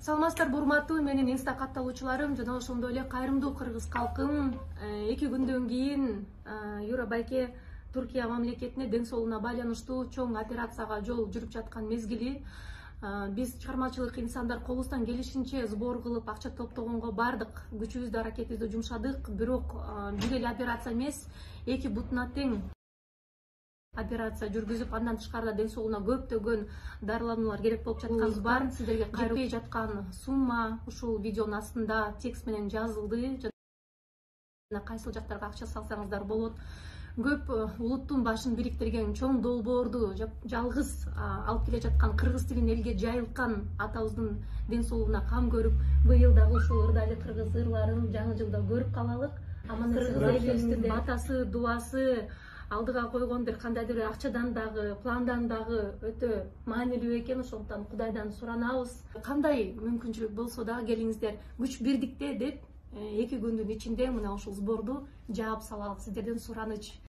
Саламатсыздарбы урматтуу менин инста катталуучуларым жана ошондой эле кайрымдуу кыргыз калкым. 2 күндөн кийин Юра байке Түркия мамлекетине ден соолугуна байланыштуу чоң операцияга жол жүрүп жаткан мезгили. Биз чыгармачылык инсандар колубуздан келишинче сбор кылып акча топтогонго бардык күчүбүздү аракетибизди жумшадык. Бирок бир эле операция эмес, 2 бутуна тең операция жүргүзүп, андан тышкарыда ден соолугуна көптөгөн дарылануулар керек болуп жаткан бар. Сиздерге жетпей жаткан сумма ушул видеонун астында текст менен жазылды. Жана кайсыл жактарга акча салсаңыздар болот. Көп улуттун башын бириктирген чоң долбоорду жалгыз алып келе жаткан кыргыз тилин элге жайылткан атабыздын ден соолугуна кам көрүп, быйыл дагы ушул ырдайлы кыргыз ырларын жаңы жылда көрүп калалык. Кыргыз элибиздин батасы, дуасы, алдыга койгон бир кандайдыр бир акчадан дагы, пландан дагы өтө маанилүү экен. Ошондуктан Кудайдан суранабыз. Кандай мүмкүнчүлүк болсо да келиңиздер, күч бирдикте деп 2 күндүн ичинде мына ушул сборду жаап салалык. Сиздерден сураныч.